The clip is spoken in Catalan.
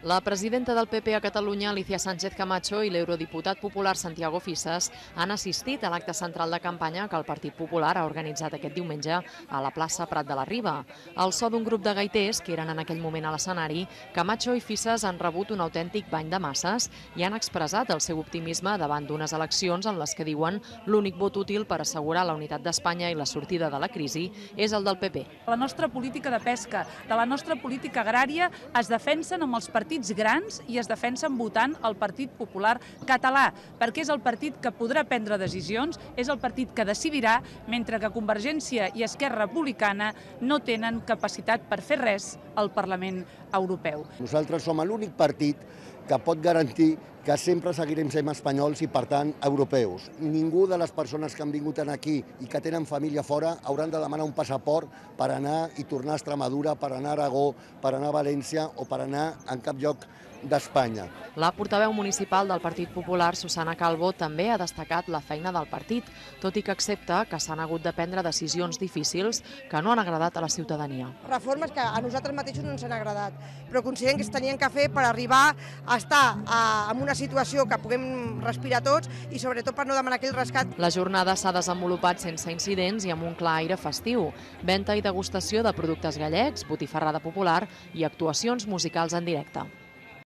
La presidenta del PP a Catalunya, Alicia Sánchez Camacho, i l'eurodiputat popular Santiago Fisas han assistit a l'acte central de campanya que el Partit Popular ha organitzat aquest diumenge a la plaça Prat de la Riba. Al so d'un grup de gaiters, que eren en aquell moment a l'escenari, Camacho i Fisas han rebut un autèntic bany de masses i han expressat el seu optimisme davant d'unes eleccions en les que diuen l'únic vot útil per assegurar la unitat d'Espanya i la sortida de la crisi és el del PP. La nostra política de pesca, de la nostra política agrària, es defensen amb els partits grans i es defensen votant el Partit Popular català, perquè és el partit que podrà prendre decisions, és el partit que decidirà, mentre que Convergència i Esquerra Republicana no tenen capacitat per fer res al Parlament Europeu. Nosaltres som l'únic partit que pot garantir que sempre seguirem sent espanyols i, per tant, europeus. Ningú de les persones que han vingut aquí i que tenen família fora hauran de demanar un passaport per anar i tornar a Extremadura, per anar a Aragó, per anar a València o per anar en cap lloc d'Espanya. La portaveu municipal del Partit Popular, Susana Calvo, també ha destacat la feina del partit, tot i que accepta que s'han hagut de prendre decisions difícils que no han agradat a la ciutadania. Reformes que a nosaltres mateixos no ens han agradat, però considerem que es tenien que fer per arribar a estar en una situació que puguem respirar tots i sobretot per no demanar aquell rescat. La jornada s'ha desenvolupat sense incidents i amb un clar aire festiu. Venta i degustació de productes gallecs, botifarrada popular i actuacions musicals en directe.